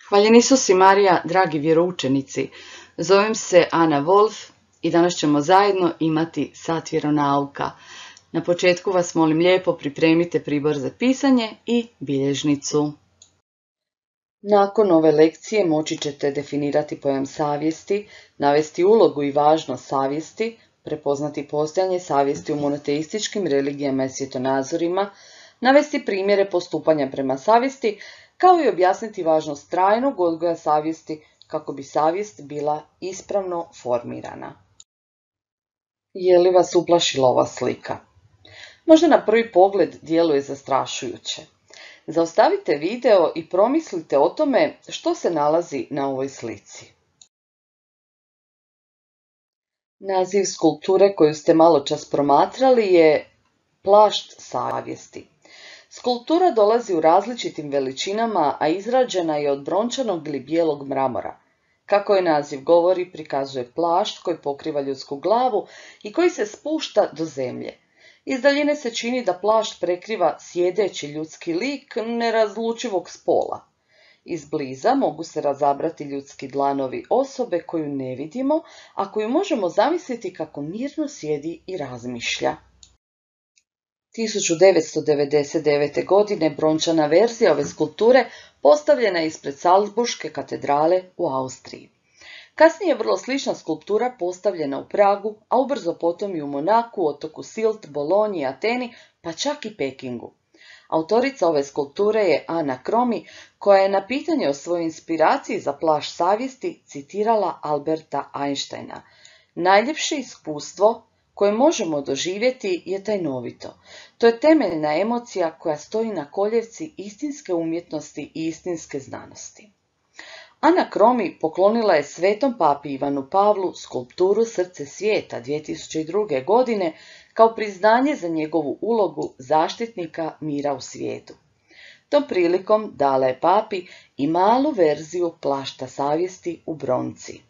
Hvaljen Isus i Marija, dragi vjeroučenici, zovem se Ana Wolf i danas ćemo zajedno imati sat vjeronauka. Na početku vas molim lijepo pripremite pribor za pisanje i bilježnicu. Nakon ove lekcije moći ćete definirati pojam savjesti, navesti ulogu i važnost savjesti, prepoznati postojanje savjesti u monoteističkim religijama i svjetonazorima, navesti primjere postupanja prema savjesti, kao i objasniti važnost trajnog odgoja savjesti kako bi savjest bila ispravno formirana. Je li vas uplašila ova slika? Možda na prvi pogled djeluje zastrašujuće. Zaustavite video i promislite o tome što se nalazi na ovoj slici. Naziv skulpture koju ste maločas promatrali je Plašt savjesti. Skulptura dolazi u različitim veličinama, a izrađena je od brončanog ili bijelog mramora. Kako je naziv govori, prikazuje plašt koji pokriva ljudsku glavu i koji se spušta do zemlje. Iz daljine se čini da plašt prekriva sjedeći ljudski lik nerazlučivog spola. Izbliza mogu se razabrati ljudski dlanovi osobe koju ne vidimo, a koju možemo zamisliti kako mirno sjedi i razmišlja. 1999. godine brončana verzija ove skulpture postavljena je ispred Salzburške katedrale u Austriji. Kasnije je vrlo slična skulptura postavljena u Pragu, a ubrzo potom i u Monaku, otoku Silt, Bolonji, Ateni, pa čak i Pekingu. Autorica ove skulpture je Ana Kromi, koja je na pitanje o svojoj inspiraciji za plašt savjesti citirala Alberta Einsteina. Najljepše iskustvo koje možemo doživjeti je tajnovito. To je temeljna emocija koja stoji na koljevci istinske umjetnosti i istinske znanosti. Ana Kromi poklonila je svetom papi Ivanu Pavlu skulpturu Srce svijeta 2002. godine kao priznanje za njegovu ulogu zaštitnika mira u svijetu. Tom prilikom dala je papi i malu verziju plašta savjesti u bronci.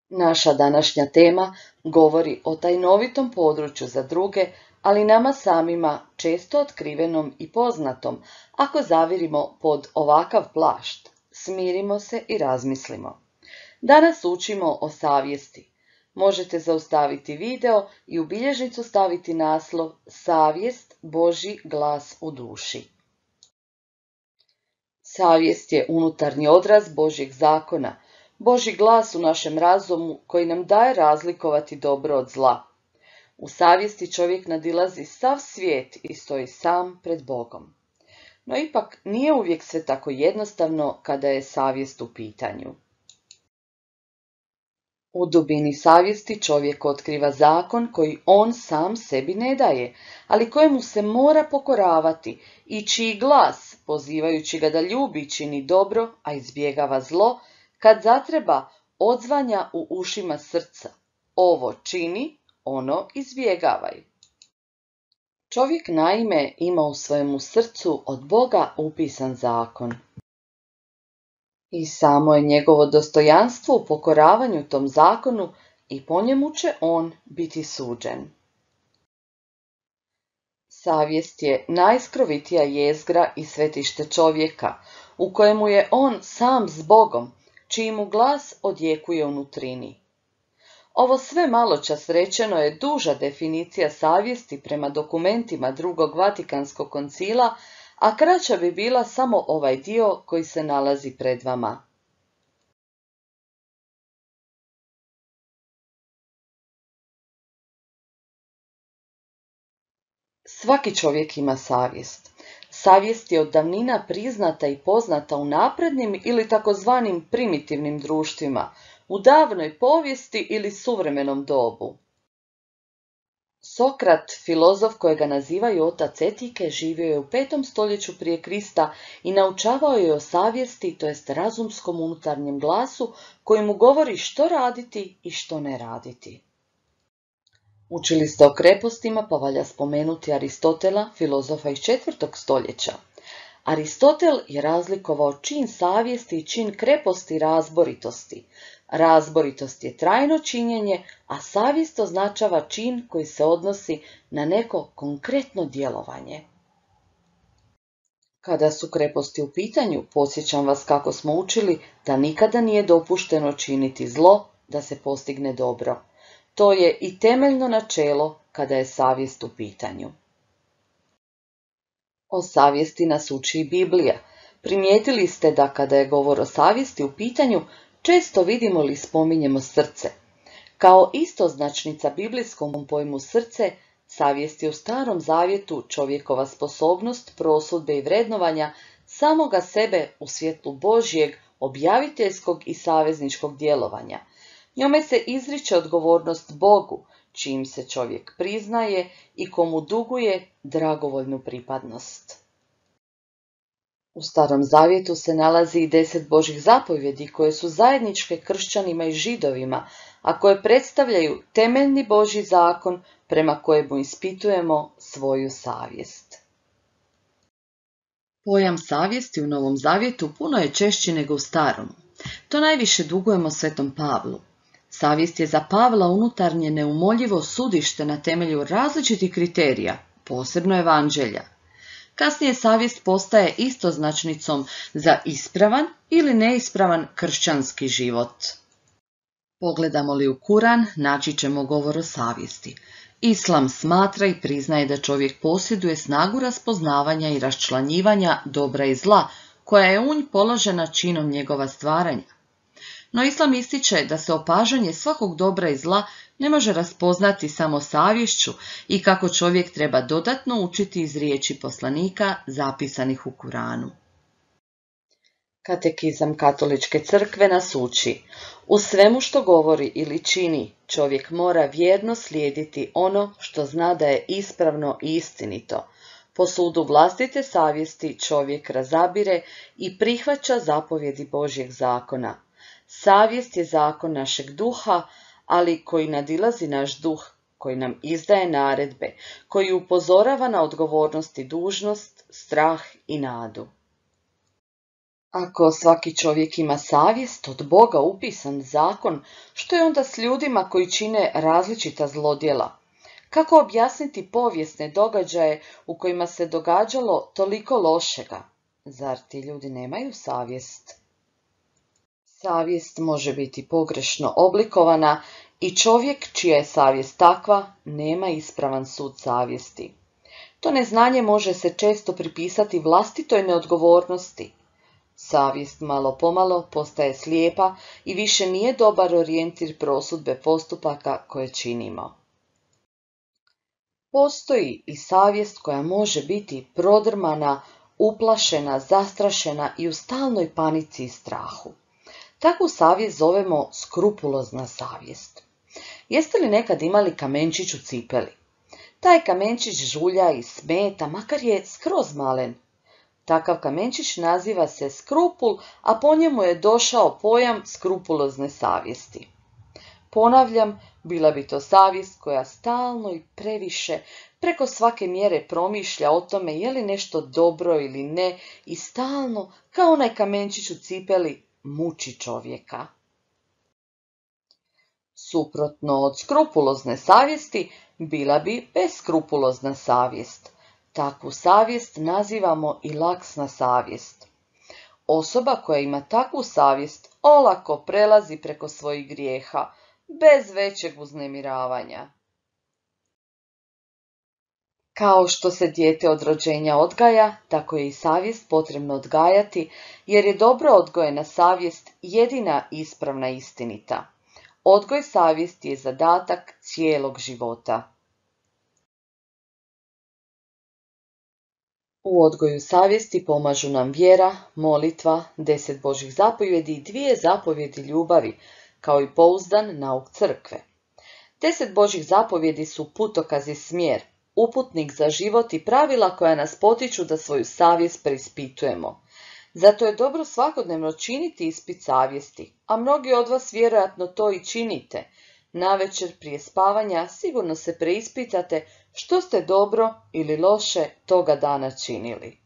Naša današnja tema govori o tajnovitom području za druge, ali nama samima često otkrivenom i poznatom. Ako zavirimo pod ovakav plašt, smirimo se i razmislimo. Danas učimo o savjesti. Možete zaustaviti video i u bilježnicu staviti naslov Savjest, Božji glas u duši. Savjest je unutarnji odraz Božjeg zakona, Božji glas u našem razumu koji nam daje razlikovati dobro od zla. U savjesti čovjek nadilazi sav svijet i stoji sam pred Bogom. No ipak nije uvijek sve tako jednostavno kada je savjest u pitanju. U dubini savjesti čovjek otkriva zakon koji on sam sebi ne daje, ali kojemu se mora pokoravati i čiji glas, pozivajući ga da ljubi i čini dobro, a izbjegava zlo, kad zatreba odzvanja u ušima srca. Ovo čini, ono izbjegavaj. Čovjek naime ima u svojemu srcu od Boga upisan zakon. I samo je njegovo dostojanstvo u pokoravanju tom zakonu i po njemu će on biti suđen. Savjest je najskrovitija jezgra i svetište čovjeka, u kojemu je on sam s Bogom, čiji mu glas odjekuje u nutrini. Ovo sve maločas rečeno je duža definicija savjesti prema dokumentima Drugog Vatikanskog koncila, a kraća bi bila samo ovaj dio koji se nalazi pred vama. Svaki čovjek ima savjest. Savjest je od davnina priznata i poznata u naprednim ili takozvanim primitivnim društvima, u davnoj povijesti ili suvremenom dobu. Sokrat, filozof kojega nazivaju otac etike, živio je u 5. stoljeću prije Krista i naučavao je o savjesti, to jest razumskom unutarnjem glasu koji mu govori što raditi i što ne raditi. Učili ste o krepostima, pa valja spomenuti Aristotela, filozofa iz 4. stoljeća. Aristotel je razlikovao čin savjesti i čin kreposti razboritosti. Razboritost je trajno činjenje, a savjest označava čin koji se odnosi na neko konkretno djelovanje. Kada su kreposti u pitanju, podsjećam vas kako smo učili da nikada nije dopušteno činiti zlo da se postigne dobro. To je i temeljno načelo kada je savjest u pitanju. O savjesti nas uči i Biblija. Primijetili ste da kada je govor o savjesti u pitanju, često vidimo ili spominjemo srce. Kao istoznačnica biblijskom pojmu srce, savjest je u Starom zavjetu čovjekova sposobnost prosudbe i vrednovanja samoga sebe u svjetlu Božjeg, objaviteljskog i savezničkog djelovanja. Njome se izriče odgovornost Bogu, čim se čovjek priznaje i komu duguje dragovoljnu pripadnost. U Starom zavjetu se nalazi i 10 Božjih zapovjedi koje su zajedničke kršćanima i židovima, a koje predstavljaju temeljni Božji zakon prema kojemu ispitujemo svoju savjest. Pojam savjesti u Novom zavjetu puno je češći nego u Starom. To najviše dugujemo Svetom Pavlu. Savjest je za Pavla unutarnje neumoljivo sudište na temelju različitih kriterija, posebno evanđelja. Kasnije savjest postaje istoznačnicom za ispravan ili neispravan kršćanski život. Pogledamo li u Kuran, naći ćemo govor o savjesti. Islam smatra i priznaje da čovjek posjeduje snagu raspoznavanja i raščlanjivanja dobra i zla, koja je u nj položena činom njegova stvaranja. No Islam ističe da se opažanje svakog dobra i zla ne može raspoznati samo savješću i kako čovjek treba dodatno učiti iz riječi poslanika zapisanih u Kuranu. Katekizam Katoličke crkve nas uči: u svemu što govori ili čini, čovjek mora vjerno slijediti ono što zna da je ispravno i istinito. Po sudu vlastite savjesti čovjek razabire i prihvaća zapovjedi Božjeg zakona. Savjest je zakon našeg duha, ali koji nadilazi naš duh, koji nam izdaje naredbe, koji upozorava na odgovornost i dužnost, strah i nadu. Ako svaki čovjek ima savjest, od Boga upisan zakon, što je onda s ljudima koji čine različita zlodjela? Kako objasniti povijesne događaje u kojima se događalo toliko lošega? Zar ti ljudi nemaju savjest? Savjest može biti pogrešno oblikovana i čovjek čija je savjest takva nema ispravan sud savjesti. To neznanje može se često pripisati vlastitoj neodgovornosti. Savjest malo pomalo postaje slijepa i više nije dobar orijentir prosudbe postupaka koje činimo. Postoji i savjest koja može biti prodrmana, uplašena, zastrašena i u stalnoj panici i strahu. Takvu savjest zovemo skrupulozna savjest. Jeste li nekad imali kamenčić u cipeli? Taj kamenčić žulja i smeta, makar je skroz malen. Takav kamenčić naziva se skrupul, a po njemu je došao pojam skrupulozne savjesti. Ponavljam, bila bi to savjest koja stalno i previše, preko svake mjere promišlja o tome je li nešto dobro ili ne i stalno, kao onaj kamenčić u cipeli, muči čovjeka. Suprotno od skrupulozne savjesti bila bi beskrupulozna savjest. Takvu savjest nazivamo i laksna savjest. Osoba koja ima takvu savjest olako prelazi preko svojih grijeha, bez većeg uznemiravanja. Kao što se dijete od rođenja odgaja, tako je i savjest potrebno odgajati, jer je dobro odgojena savjest jedina ispravna i istinita. Odgoj savjesti je zadatak cijelog života. U odgoju savjesti pomažu nam vjera, molitva, 10 Božjih zapovjedi i 2 zapovjedi ljubavi, kao i pouzdan nauk crkve. 10 Božjih zapovjedi su putokaz i smjer, uputnik za život i pravila koja nas potiču da svoju savjest preispitujemo. Zato je dobro svakodnevno činiti ispit savjesti, a mnogi od vas vjerojatno to i činite. Navečer prije spavanja sigurno se preispitate što ste dobro ili loše toga dana činili.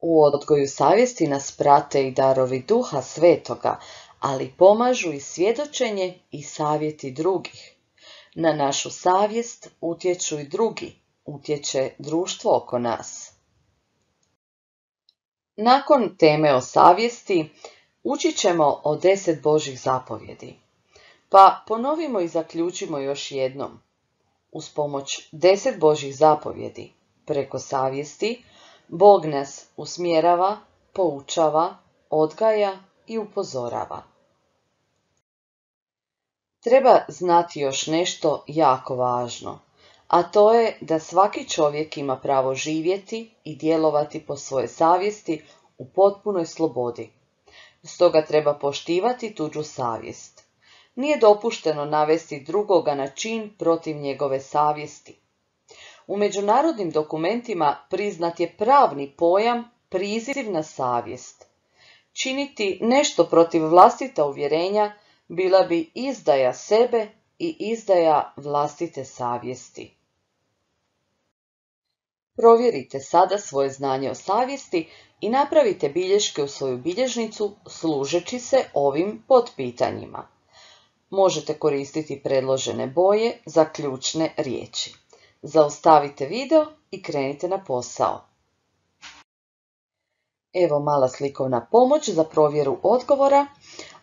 U odgoju savjesti nas prate i darovi Duha Svetoga, ali pomažu i svjedočenje i savjeti drugih. Na našu savjest utječu i drugi, utječe društvo oko nas. Nakon teme o savjesti, učit ćemo o 10 Božjih zapovjedi. Pa ponovimo i zaključimo još jednom. Uz pomoć 10 Božjih zapovjedi, preko savjesti, Bog nas usmjerava, poučava, odgaja i upozorava. Treba znati još nešto jako važno, a to je da svaki čovjek ima pravo živjeti i djelovati po svojoj savjesti u potpunoj slobodi. Stoga treba poštivati tuđu savjest. Nije dopušteno navesti drugoga na čin protiv njegove savjesti. U međunarodnim dokumentima priznat je pravni pojam priziv na savjest. Činiti nešto protiv vlastita uvjerenja bila bi izdaja sebe i izdaja vlastite savjesti. Provjerite sada svoje znanje o savjesti i napravite bilješke u svoju bilježnicu služeći se ovim potpitanjima. Možete koristiti predložene boje za ključne riječi. Zaustavite video i krenite na posao. Evo mala slikovna pomoć za provjeru odgovora,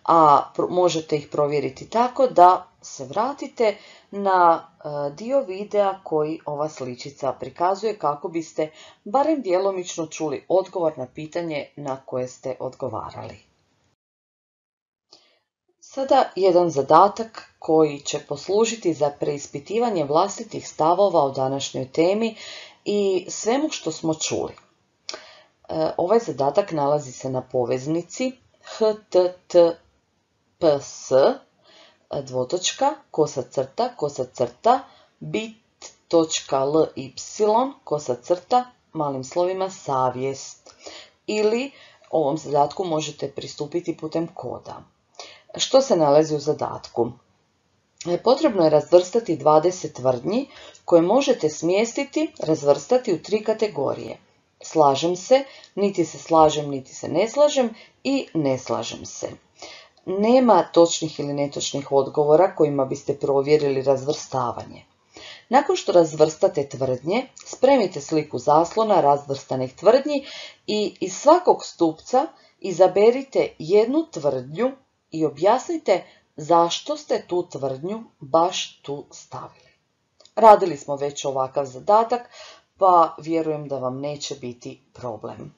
a možete ih provjeriti tako da se vratite na dio videa koji ova sličica prikazuje kako biste barem djelomično čuli odgovor na pitanje na koje ste odgovarali. Sada jedan zadatak koji će poslužiti za preispitivanje vlastitih stavova o današnjoj temi i svemu što smo čuli. Ovaj zadatak nalazi se na poveznici https bit.ly malim slovima savjest, ili ovom zadatku možete pristupiti putem koda. Što se nalazi u zadatku? Potrebno je razvrstati 20 tvrdnji koje možete smjestiti, razvrstati u 3 kategorije. Slažem se, niti se slažem, niti se ne slažem i ne slažem se. Nema točnih ili netočnih odgovora kojima biste provjerili razvrstavanje. Nakon što razvrstate tvrdnje, spremite sliku zaslona razvrstanih tvrdnji i iz svakog stupca izaberite jednu tvrdnju i objasnite zašto ste tu tvrdnju baš tu stavili. Radili smo već ovakav zadatak, pa vjerujem da vam neće biti problem.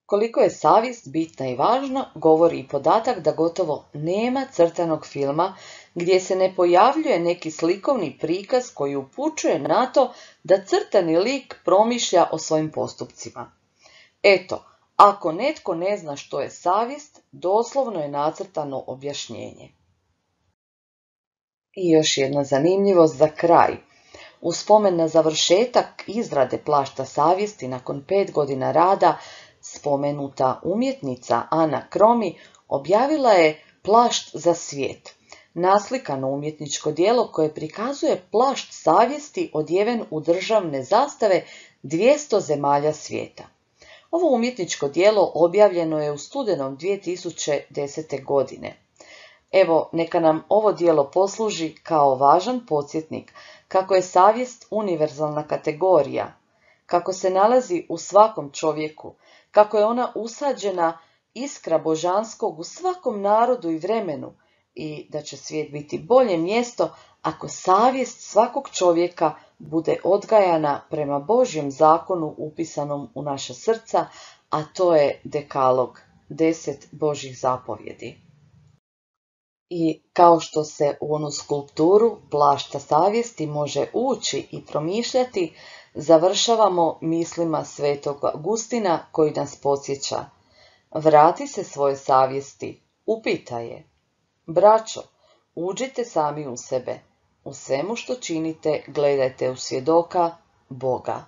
Koliko je savjest bitna i važna, govori i podatak da gotovo nema crtanog filma gdje se ne pojavljuje neki slikovni prikaz koji upućuje na to da crtani lik promišlja o svojim postupcima. Eto, ako netko ne zna što je savjest, doslovno je nacrtano objašnjenje. I još jedna zanimljivost za kraj. U spomen na završetak izrade plašta savjesti nakon 5 godina rada, spomenuta umjetnica Ana Kromi objavila je Plašt za svijet, naslikano umjetničko djelo koje prikazuje plašt savjesti odjeven u državne zastave 200 zemalja svijeta. Ovo umjetničko djelo objavljeno je u studenom 2010. godine. Evo, neka nam ovo djelo posluži kao važan podsjetnik kako je savjest univerzalna kategorija, kako se nalazi u svakom čovjeku, kako je ona usađena iskra božanskog u svakom narodu i vremenu i da će svijet biti bolje mjesto ako savjest svakog čovjeka bude odgajana prema Božjem zakonu upisanom u naša srca, a to je dekalog, 10 Božjih zapovjedi. I kao što se u onu skulpturu plašta savjesti može ući i promišljati, završavamo mislima svetog Augustina koji nas podsjeća: vrati se svoje savjesti, upitaj je. Braćo, uđite sami u sebe, u svemu što činite gledajte u svjedoka Boga.